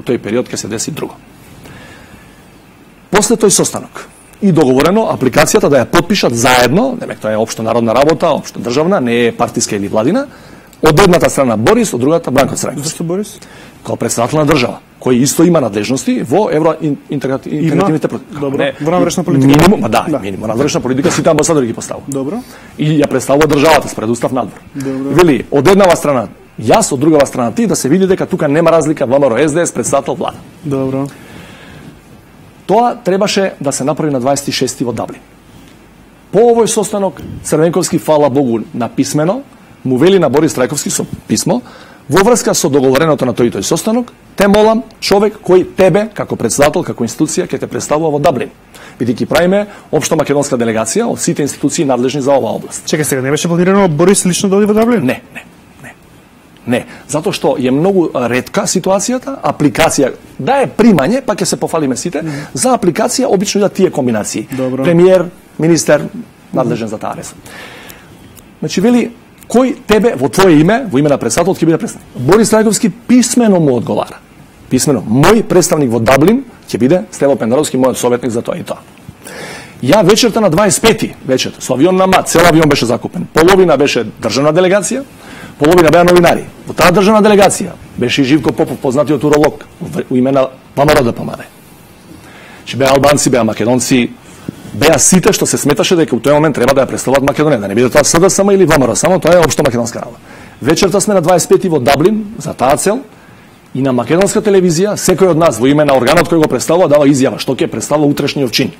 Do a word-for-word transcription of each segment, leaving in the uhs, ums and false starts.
тој период ќе се деси друго. После тој состанок и договорено апликацијата да ја потпишат заедно, демек тоа е општо народна работа, општо државна, не е партиска или владина, од едната страна Борис, од другата Бранко Црајковски. Зашто Борис? Као председател на држава, кој исто има надлежности во евроинтегративните политики. Добро. Во надворешна политика. Минимум, да, да. минимум надворешна политика сите амбасадори ги поставува. Добро. И ја представува државата спред устав надвор. Добро. Вели, од еднава страна јас, од другава страна ти, да се види дека тука нема разлика ВМРО СДС председател влада. Добро. Тоа требаше да се направи на дваесет и шести во Даблин. По овој состанок Црвенковски, фала Богу, написмено му вели на Борис Трајковски со писмо во врска со договореното на тој тој состанок, те молам човек кој тебе како председател, како институција ќе те представува во Даблин. Бидејќи правиме општа македонска делегација од сите институции надлежни за оваа област. Чекај сега, не беше планирано Борис лично да оди во Даблин? Не, не. Не, затоа што е многу ретка ситуацијата, апликација, да е примање, па ќе се пофалиме сите, mm -hmm. за апликација обично да тие комбинации. Добро. Премиер, министер, надлежен mm -hmm. за таа ресор. Значи, вели, кој тебе во твое име, во име на председателот ќе биде представник? Борис Трајковски писмено му одговара. Писмено, мој представник во Даблин ќе биде Стево Пендаровски, мојот советник за тоа и тоа. Ја вечерта на дваесет и пети, вечерта, со авион на МАТ, цел авион беше закупен. Половина беше државна делегација, половина беа новинари. Во таа државна делегација беше и Живко Попов, познатиот уролог, во име на ВМРО ДПМН. Че беа албанци, беа македонци, беа сите што се сметаше дека у тој момент треба да ја представуваат Македонија, да не биде тоа СДСМ или ВМРО, само тоа е општо македонска работа. Вечерта сме на дваесет и пети во Даблин за таа цел и на македонска телевизија секој од нас во име на органот кој го представува дава изјава што ќе представува утрешниот чин.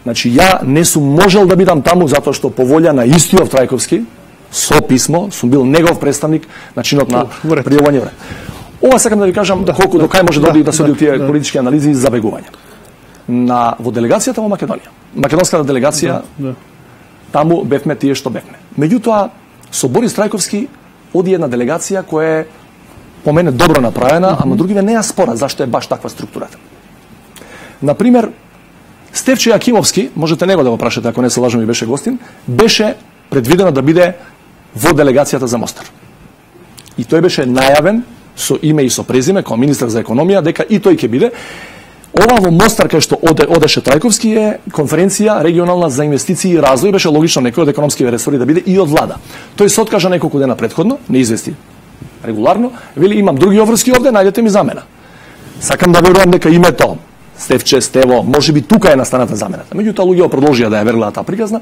Значи ја не сум можел да бидам таму затоа што по волја на истиот Трајковски со писмо сум бил негов представник на чинот на пријавување време. Ова сакам да ви кажам да, колку да, до кај може да, да, да се оди тие да, политички анализи и забегување. На во делегацијата во Македонија, македонската делегација, да, да. Таму бевме тие што бевме. Меѓутоа со Борис Трајковски оди една делегација која е по мене добро направена, mm -hmm. ама другиве не ја спорат зашто е баш таква структурата. Например, Стефче Јакимовски, можете него да го прашате ако не се лажам и беше гостин, беше предвидено да биде во делегацијата за Мостар. И тој беше најавен со име и со презиме како министар за економија дека и тој ќе биде. Ова во Мостар кај што оде, одеше Трајковски е конференција регионална за инвестиции и развој, беше логично некој од економски ресори да биде и од влада. Тој се откажа неколку дена претходно, не извести регуларно, вели имам други обврски овде, најдете ми замена. Сакам да верувам дека името Стефче, Стево, може би тука е настаната замената. Меѓутоа луѓето продолжија да ја веруваат таа приказна.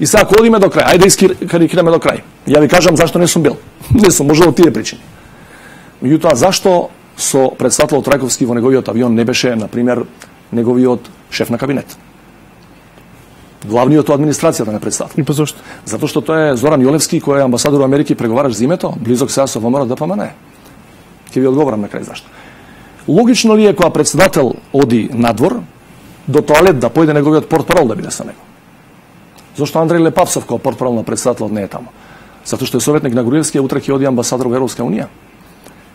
И сега ако одиме до крај, ајде искарикираме до крај. Ја ви кажам зашто не сум бил. Не сум можел од тие причини. Меѓутоа зашто со председателот Трајковски во неговиот авион не беше, на пример, неговиот шеф на кабинет? Главниот од администрацијата на председател. И па зошто? Затоа што тоа е Зоран Јолевски, кој е амбасадор во Америка и преговараш за името, близок сега со ВМРО ДПМН. Ќе ви одговорам на крај зашто. Логично ли е кога председател оди надвор до тоалет да појде неговиот портпарол да биде со него? Зошто Андреј Лепавцов како портпарол на председателот не е таму? Затоа што е советник на Груевски, утре ќе оди амбасадор во Европска унија.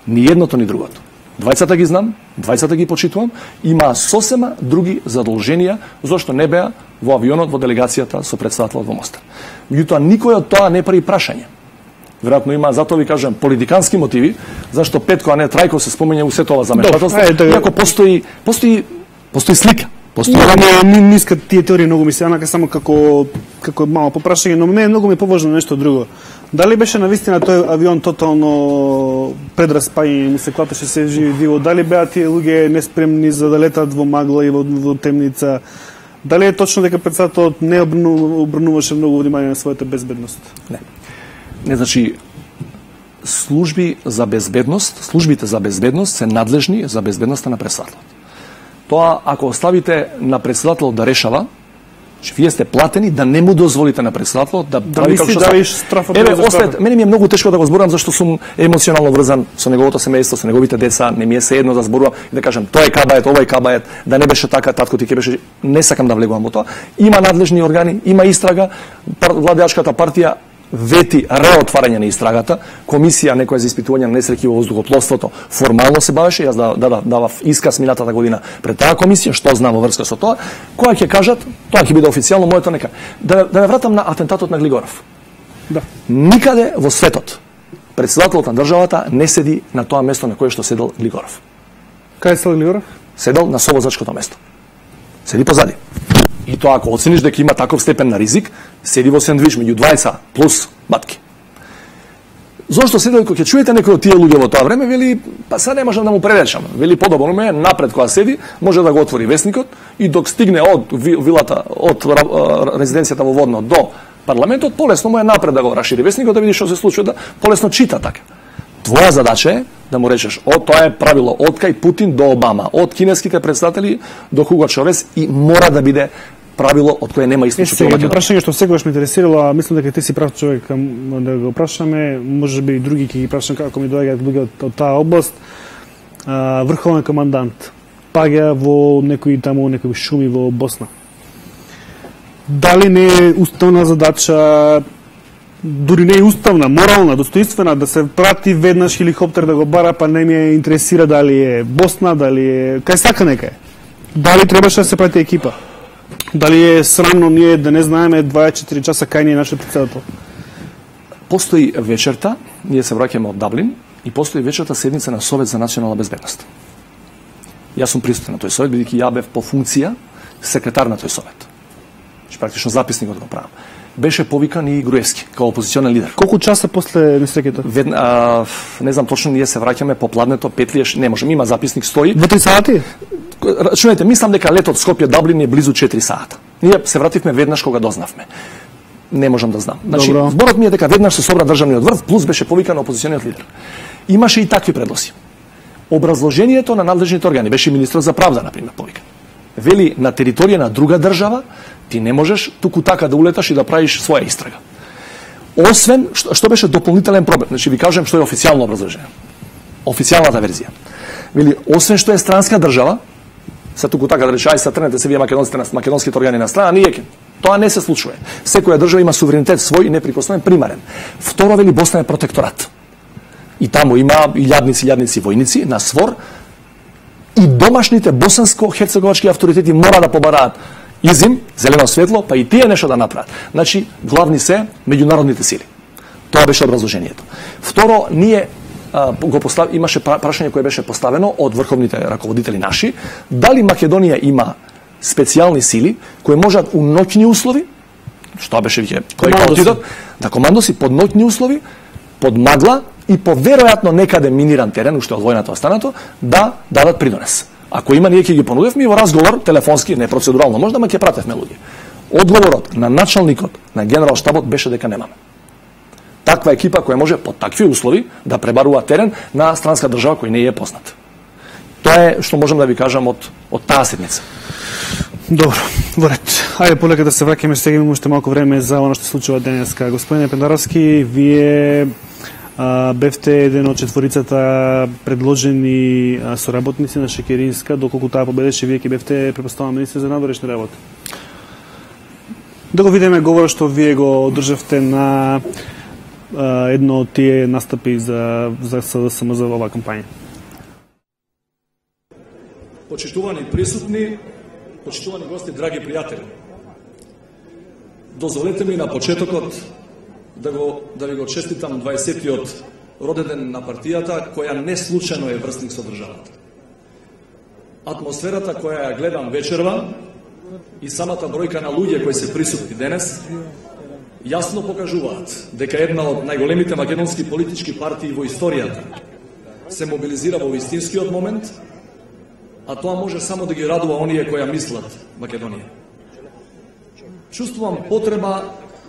Ни едното ни другото. Двајцата ги знам, двајцата ги почитувам, има сосема други задолженија зошто не беа во авионот во делегацијата со председателот во Мостар. Меѓутоа никој од тоа не прави прашање. Веројатно има, затоа ви кажам, политикански мотиви, зашто Петко, а не Трајков се спомење у сето ова замешателство, иако постои, постои, постои слика. Постои... Не, не, не искат тие теории, многу ми се анака само како, како мало попрашање, но не, многу ми е поважно нешто друго. Дали беше навистина тој авион тотално предраспај, му се клатеше се живи диво, дали беа тие луѓе неспремни за да летат во магла и во, во темница, дали е точно дека председателот не обрнуваше многу внимание на својата безбедност? Не. Не, значи, служби за безбедност, службите за безбедност се надлежни за безбедноста на председателот. Тоа, ако оставите на председателот да решава, че вие сте платени да не му дозволите на председателот да да прави како што давиш страфот. Еве, остајте, мене ми е многу тешко да го зборувам зашто сум емоционално врзан со неговото семејство, со неговите деца, не ми е се едно да зборувам и да кажам тоа е кабает, ова е кабает, да не беше така, татко ти ќе беше, не сакам да влегувам во тоа. Има надлежни органи, има истрага, владеачката партија вети реотварање на истрагата, комисија некоја за испитување на несреќи во воздухопловството формално се бавеше, јас да да давав исказ минатата година пред таа комисија, што знам во врска со тоа, која ќе кажат, тоа ќе биде официјално моето нека. Да да ме вратам на атентатот на Глигоров. Да. Никаде во светот Председателот на државата не седи на тоа место на кое што седел Глигоров. Кај седел Глигоров? Седел на совозачкото место. Седи позади. И тоа ако оцениш дека има таков степен на ризик, седи во сендвич меѓу двајца плюс матки. Зошто седел, кога ќе чуете некој од тие луѓе во тоа време, вели, па сега не можам да му преречам. Вели, подобро ме напред кога седи, може да го отвори весникот и док стигне од вилата, од резиденцијата во Водно до парламентот, полесно му е напред да го расшири весникот, да види што се случува, да полесно чита така. Твоја задача е да му речеш, о, тоа е правило од кај Путин до Обама, од кинеските представители до Хуго Чавес и мора да биде правило од кое нема источник. Сега едно прашање што секогаш ме интересирало, а мислам дека ти си прав човек да го прашаме, можеби и други ќе ги прашам како ми доаѓаат луѓе од, од таа област. А, врховен командант паѓа во некои таму некои шуми во Босна. Дали не е уставна задача, дури не е уставна, морална, достоинствена, да се прати веднаш хеликоптер да го бара, па не ме интересира дали е Босна, дали е кај сака нека е. Дали требаше да се прати екипа? Дали е срамно ние да не знаеме дваесет и четири часа кај ни е нашиот председател? Постои вечерта, ние се враќаме од Даблин, и постои вечерта седница на Совет за национална безбедност. Јас сум присутен на тој совет, бидејќи ја бев по функција секретар на тој совет. Че практично записникот го правам. Беше повикан и Груевски, као опозиционен лидер. Колку часа после несреќата? Ведна, не знам точно, ние се враќаме по пладнето, петлиеш, не можем, има записник, стои. Во три сати? Рачунете, мислам дека летот Скопје Даблин е близу четири сата. Ние се вративме веднаш кога дознавме. Не можам да знам. Значи, Добро. Зборот ми е дека веднаш се собра државниот врв, плюс беше повикан опозициониот лидер. Имаше и такви предлози. Образложението на надлежните органи беше министрот за правда, например, повикан. Вели, на територија на друга држава ти не можеш туку така да улеташ и да правиш своја истрага. Освен што, што беше дополнителен проблем, значи ви кажам што е официјално образложение. Официјалната верзија. Вели, освен што е странска држава, се туку така да рече, ај се трнете се вие македонските, македонските органи на страна, ние ќе. Тоа не се случува. Секоја држава има суверенитет свој и неприкосновен, примарен. Второ, вели, Босна е протекторат. И таму има илјадници, илјадници војници на свор, и домашните босанско-херцеговачки авторитети мора да побараат изим, зелено светло, па и тие нешто да направат. Значи, главни се меѓународните сили. Тоа беше образложението. Второ, ние а, го постав... имаше прашање кое беше поставено од врховните раководители наши, дали Македонија има специјални сили кои можат у ноќни услови, што беше веќе кој отидат, да командоси под ноќни услови, под магла и по веројатно некаде миниран терен, уште од војната останато, да дадат придонес. Ако има, ние ќе ги понудевме во разговор, телефонски, не процедурално, можда, ма ќе пратевме луѓе. Одговорот на началникот на генерал штабот беше дека немаме. Таква екипа која може под такви услови да пребарува терен на странска држава кој не е познат. Тоа е што можам да ви кажам од, од таа седница. Добро, во ред. Ајде полека да се враќаме, сега имаме уште малку време за она што се случува денеска. Господине Пендаровски, вие а, бевте еден од четворицата предложени а, соработници на Шекеринска, доколку таа победеше, вие ќе бевте препоставуван министер за надворешни работи. Да го видиме говорот што вие го одржавте на а, едно од тие настапи за за СДСМ за оваа кампања. Почитувани присутни, почитувани гости, драги пријатели. Дозволете ми на почетокот да го да ви го честитам дваесеттиот роденден на партијата, која не случајно е врсник со државата. Атмосферата која ја гледам вечерва и самата бројка на луѓе кои се присутни денес јасно покажуваат дека една од најголемите македонски политички партии во историјата се мобилизира во вистинскиот момент, а тоа може само да ги радува оние кои ја мислат Македонија. Чувствувам потреба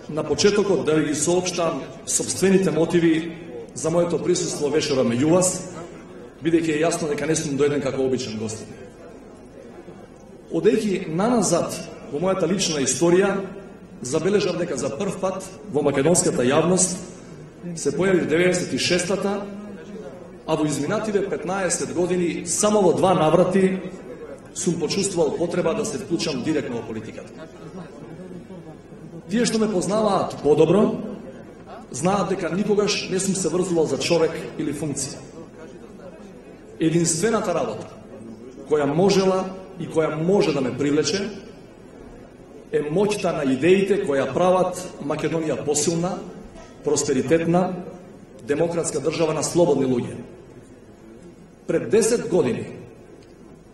на почетокот да ви ги соопштам собствените мотиви за моето присуство вечера меѓу вас, бидејќи е јасно дека не сум дојден како обичен гостин. Одејќи наназад во мојата лична историја, забележав дека за прв пат во македонската јавност се појави деветдесет и шестата, а во изминативе петнаесет години само во два наврати сум почувствувал потреба да се вклучам директно во политиката. Тие што ме познаваат подобро, знаат дека никогаш не сум се врзувал за човек или функција. Единствената работа која можела и која може да ме привлече е моќта на идеите која прават Македонија посилна, просперитетна, демократска држава на слободни луѓе. Пред десет години,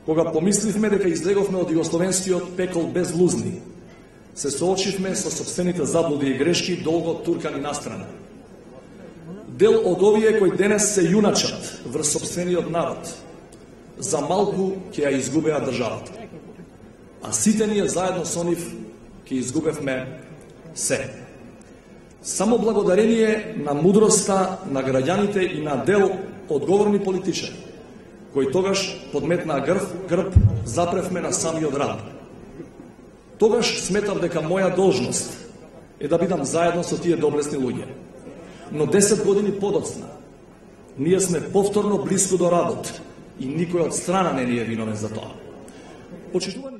кога помисливме дека излеговме од југословенскиот пекол без лузни, се соочивме со собствените заблуди и грешки долго туркани настрана. Дел од овие кои денес се јуначат врз собствениот народ, за малку ќе ја изгубеа државата. А сите ние заедно со нив ќе изгубевме се. Само благодарение на мудроста на граѓаните и на дел одговорни политичари, кои тогаш подметнаа грб, грб запревме на самиот рад. Тогаш сметав дека моја должност е да бидам заедно со тие доблесни луѓе. Но десет години подоцна, ние сме повторно близко до радот и никој од страна не ни е виновен за тоа. Почитувани